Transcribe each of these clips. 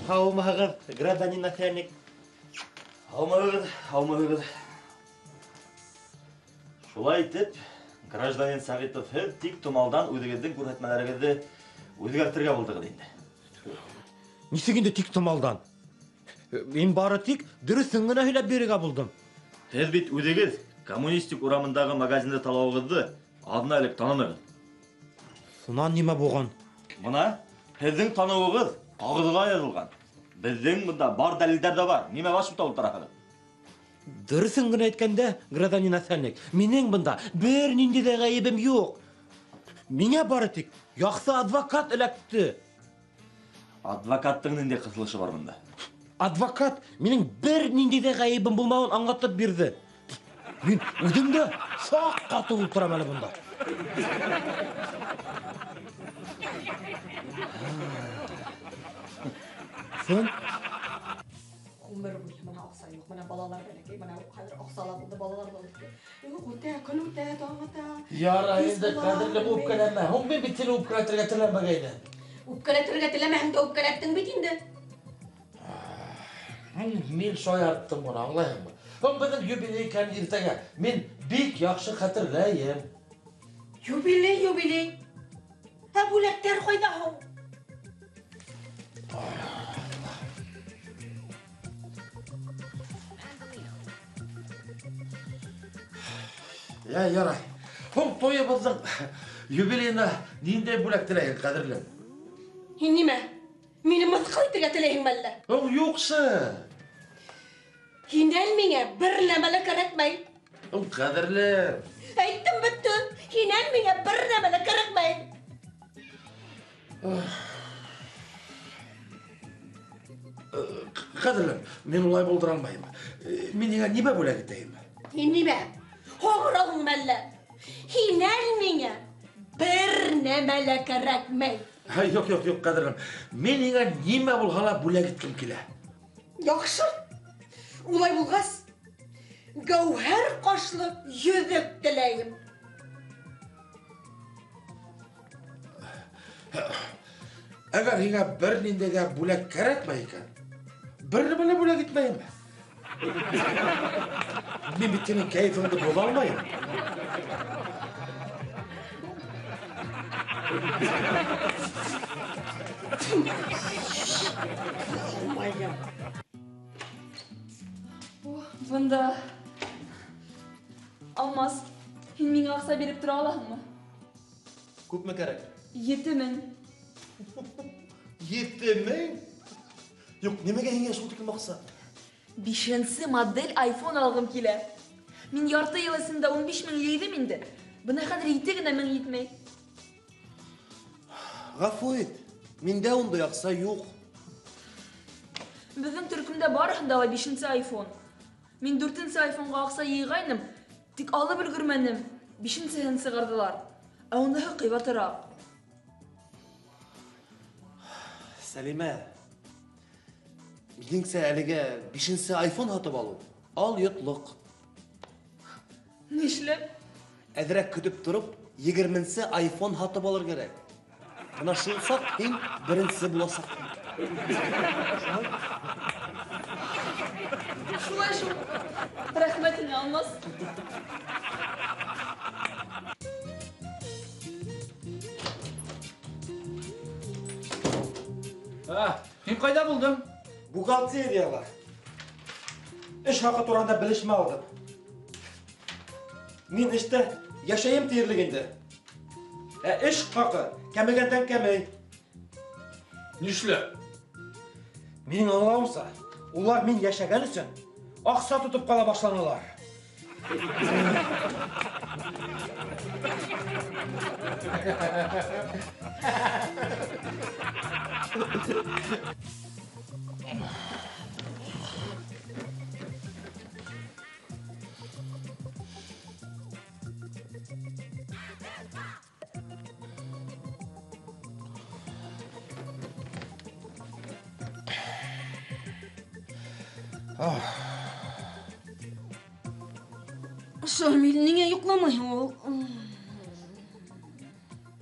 Һаумыһығыҙ, гражданин начальник. Һаумыһығыҙ, һаумыһығыҙ. Шулай итеп, гражданин Сәғитов, һеҙ тик томалдан үҙегеҙҙең күрһәтмәләрегеҙҙе үҙгәртергә булдығыҙ инде. Нисек инде тик томалдан? Мин бары тик дөрөҫөн генә һөйләп бирергә булдым. Һеҙ бит үҙегеҙ Коммунистик урамындағы магазинды талауығыҙҙы аҙна элек танынығыҙ. Шунан нимә булған? Бына һеҙҙең таныуығыҙ ҡағыҙға яҙылған. Беҙҙең бында бар дәлилдәр ҙә бар. Нимә баш бутап ултыраһығыҙ? Дөрөҫөн генә әйткәндә, гражданин начальник, минең бында бер ниндәй ҙә ғәйебем юҡ. Миңә бары тик яҡшы адвокат эләкте. Адвокаттың ниндәй ҡыҫылышы бар бында? Адвокат минең бер ниндәй ҙә ғәйебем булмауын аңлатып бирҙе. Мин үҙем дә шаҡ ҡатып ултырам әле бында. Һин? Ғүмер буйы бына аҡса юҡ, бына балалар бәләкәй, бына хәҙер аҡса ла булды, балалар ҙа үҫте. Юҡ, үтә, көн үтә, таң ата. Ярай Кис инде, була. ҡәҙерлем, үпкәләмә. Һуң мин бит һине үпкәләтергә теләмәгәйнем. Үпкәләтергә теләмәһәң дә үпкәләттең бит инде. Мин шаярттым ғына, аңлайһыңмы? Һуң беҙҙең юбилей икән иртәгә. Мин бик яҡшы хәтерләйем. Юбилей, юбилей. Ә бүләктәр ҡайҙа һуң? Я, ярай. Һуң туйыбыҙҙың юбилейына ниндәй бүләк теләйһең, ҡәҙерлем? Һин нимә? Мине мыҫҡыл итергә теләйһеңме әллә? Һуң юҡсы. Һинән миңә бер нәмә лә кәрәкмәй. Һуң ҡәҙерлем. Әйттем бөттө. Һинән миңә бер нәмә лә кәрәкмәй. Ҡәҙерлем, мин улай булдыра алмайым. Мин һиңә нимә бүләк итәйем? Һин нимә? Һоңрауың мәллә? Һинән миңә бер нәмә лә кәрәкмәй. Һай, юҡ, юҡ, юҡ, ҡәҙерлем. Мин һиңә нимә булһа ла бүләк иткем килә. Яҡшы. Улай булғас, гәүһәр ҡашлы йөҙөк теләйем. Әгәр һиңә бер ниндәй ҙә бүләк кәрәкмәй икән, бер нәмә лә бүләк итмәйем. Мин бит һинең кәйефеңде боҙа алмайым. Бында Алмаз, һин миңә аҡса биреп тора алаһыңмы? Күпме кәрәк? 7000. 7000? Юҡ, нимәгә һиңә шул тиклем аҡса? Бишенсе модель iPhone алғым килә. Мин ярты йыл эсендә 15000 йыйҙым инде. Бына хәҙер ете генә мең етмәй. Ғәфү ит, миндә ундай аҡса юҡ. Беҙҙең төркөмдә барыһында ла бишенсе iPhone. Мин дүртенсе iPhone-ға аҡса йыйғайным, тик алып өлгөрмәнем. Бишенсеһен сығарҙылар. Ә уныһы ҡыйбатыраҡ. Сәлимә, минеңсә әлегә бишенсе iPhone һатып алыу ал йотлоҡ. Нишләп? Әҙерәк көтөп тороп, егерменсе iPhone һатып алыр кәрәк. Бына шул саҡ һин беренсе буласаҡһың. Шулай шул. Рәхмәт һиңә, Алмаз. Һин ҡайҙа булдың? Бухгалтерияла. Эш хаҡы тураһында белешмә алдым. Мин эштә йәшәйем тиерлек инде. Ә эш хаҡы кәмегәндән кәмей. Нишләп? Минең аңлауымса, улар мин йәшәгән өсөн аҡса тотоп ҡала башланылар. Шамил, ниңә йоҡламайһың ул?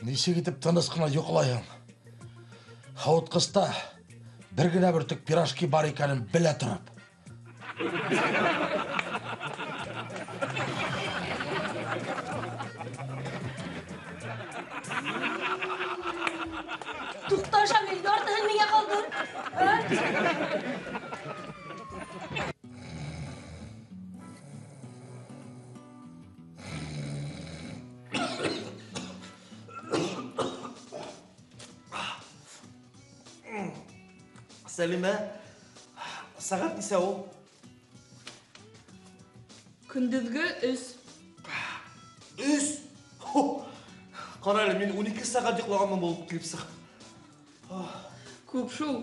Нисек итеп тыныс ҡына йоҡлайһың? Һауытҡыста бер генә бөртөк пирожки бар икәнен белә тороп. Туҡта, Шамил, яртыһын миңә ҡалдыр. Сәлимә, сәғәт нисә ул? Көндөҙгө 3. 3? Ҡара әле, мин 12 сәғәт йоҡлағанмын булып килеп сыға. Күп шул.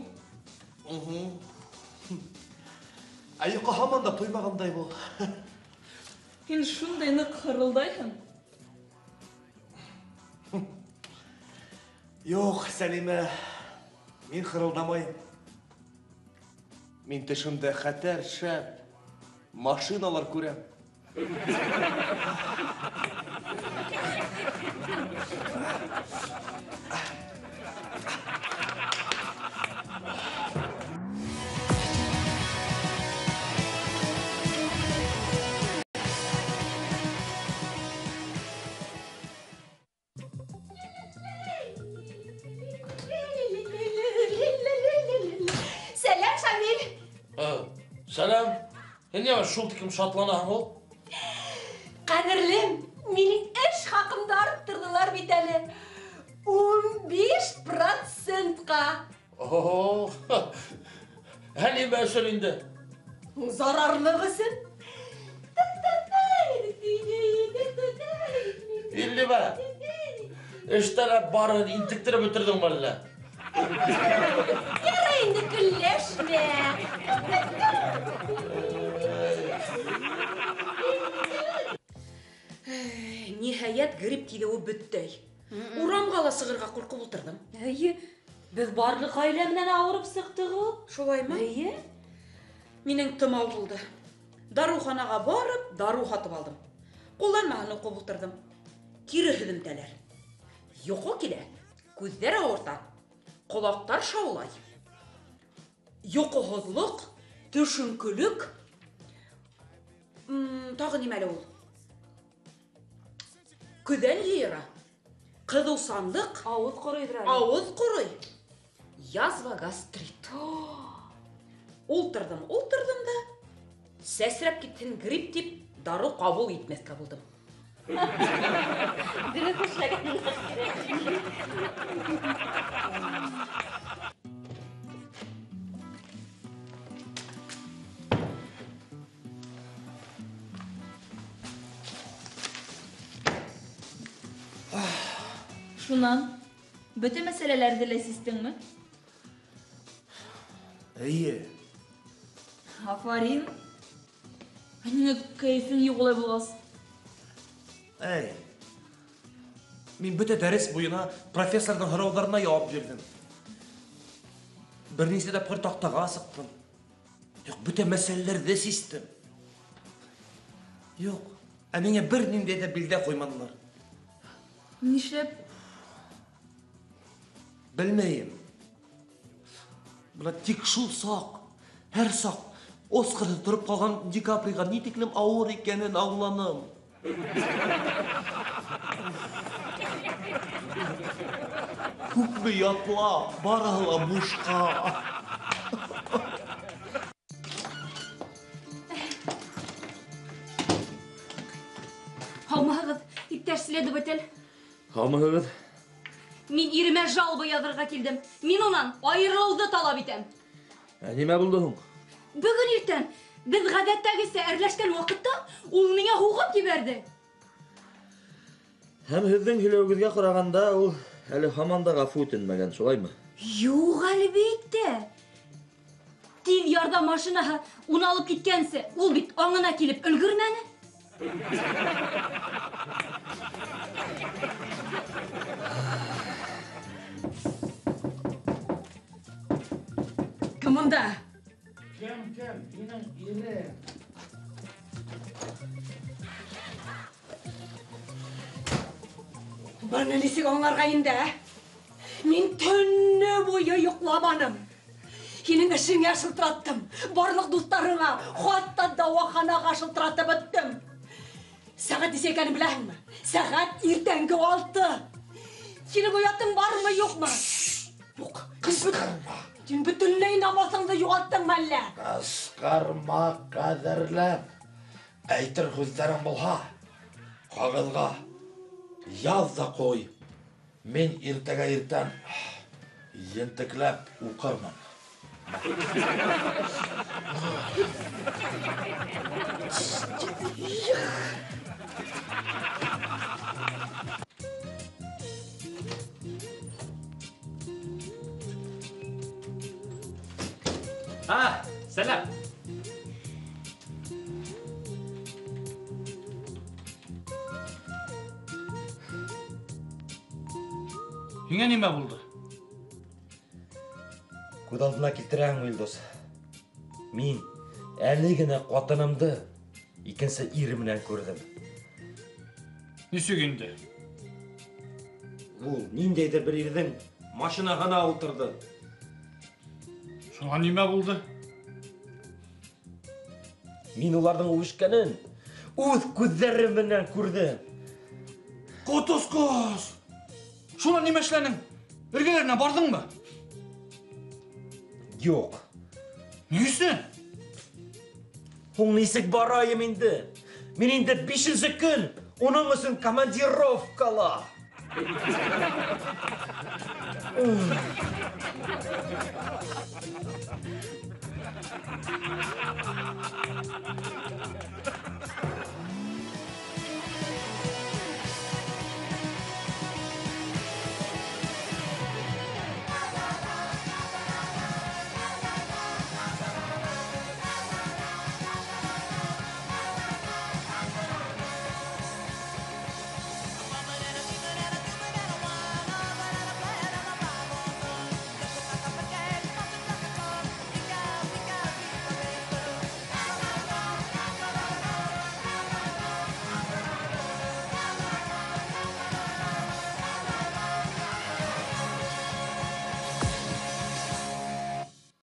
Ә йоҡо һаман да туймағандай булды. Һин шундай ныҡ хырылдайһың. Юҡ, Сәлимә, мин хырылдамайым. Мин төшөмдә хәтәр шәп машиналар күрәм. Сәләм, Шамил. Сәләм. Һин ниңә шул тиклем шатланаһың ул? Ҡәҙерлем, минең эш хаҡымды арттырҙылар бит әле. 15%-ҡа. О, ә нимә өсөн инде? Зарарлыҡ өсөн. Илле бә? Эштән барын интектереп бөтөрҙөңмө әллә? Ярай инде, көлләшмә. Ниһайәт, грипп килеүе бөттө. Урамға ла сығырға ҡурҡып ултырҙым. Эйе, беҙ барлыҡ ғаилә менән ауырып сыҡтыҡ ул. Шулаймы? Эйе. Минең тымау булды. Дарыуханаға барып, дарыу һатып алдым. Ҡулланмаһын уҡып ултырҙым. Кире һөҙөмтәләр. Йоҡо килә, күҙҙәр ауырта, ҡолаҡтар шаулай. Йоҡоһоҙлоҡ, төшөнкөлөк. Тағы нимә әле ул? Көҙән йыйыра, ҡыҙыусанлыҡ, ауыҙ ҡоройҙыр әле. Ауыҙ ҡорой. Язва, гастрит. Ултырҙым, ултырҙым да, сәсрәп китһен грипп тип дарыу ҡабул итмәҫкә булдым. Дөрөҫ эшләгәнең кәрәк. Шунан, бөтә мәсьәләләрҙе лә систеңме? Эйе. Афарин. Ә ниңә кәйефең юҡ улай булғас? Эй, мин бөтә дәрес буйына профессорҙың һорауҙарына яуап бирҙем. Бер нисә тапҡыр таҡтаға сыҡтым. Юҡ, бөтә мәсьәләләрҙе систем. Юҡ, ә миңә бер ниндәй ҙә билдә ҡуйманылар. Нишләп? Белмәйем. Бына тик шул саҡ, һәр саҡ Оскарҙы тороп ҡалған Ди Каприға ни тиклем ауыр икәнен аңланым. Күпме ятла, барыһы ла бушҡа. Һаумыһығыҙ, иптәш следователь. Һаумыһығыҙ. Мин иремә жалоба яҙырға килдем. Мин унан айырылыуҙы талап итәм. Ә нимә булды һуң? Бөгөн иртән беҙ ғәҙәттәгесә әрләшкән ваҡытта ул миңә һуғып ебәрҙе. Һәм һеҙҙең һөйләүегеҙгә ҡарағанда ул әле һаман да ғәфү итенмәгән, шулаймы? Юҡ, әлбиттә. Тиҙ ярҙам машинаһы уны алып киткәнсе, ул бит аңына килеп өлгөрмәне. Кем унда? Кем, кем? Минең ирем. Быны нисек аңларға инде, ә? Мин төнө буйы йоҡламаным. Һинең эшеңә шылтыраттым, барлыҡ дуҫтарыңа, хатта дауаханаға шылтыратып бөттөм. Сәғәт нисә икәнен беләһеңме? Сәғәт иртәнге 6. Һинең оятың бармы, юҡмы? Юҡ. Ҡысҡырма. Һин бөтөнләй намыҫыңды юғалттыңмы әллә? Ҡысҡырма, ҡәҙерлем. Әйтер һүҙҙәрең булһа, ҡағыҙға яҙ ҙа ҡуй. Мин иртәгә иртән ентекләп уҡырмын. А, сәләм. Һиңә нимә булды? Күҙ алдына килтерәһеңме, Илдус? Мин әле генә ҡатынымды икенсе ир менән күрҙем. Нисек инде? Ул ниндәйҙер бер ирҙең машинаһына ултырҙы. Шуңа нимә булды? Мин уларҙың үбешкәнен үҙ күҙҙәрем менән күрҙем. Ҡотосҡос! Шунан нимә эшләнең? Эргәләренә барҙыңмы? Юҡ. Ни өсөн? Һуң нисек барайым инде? Мин инде 5-нсе көн уның өсөн командировкала.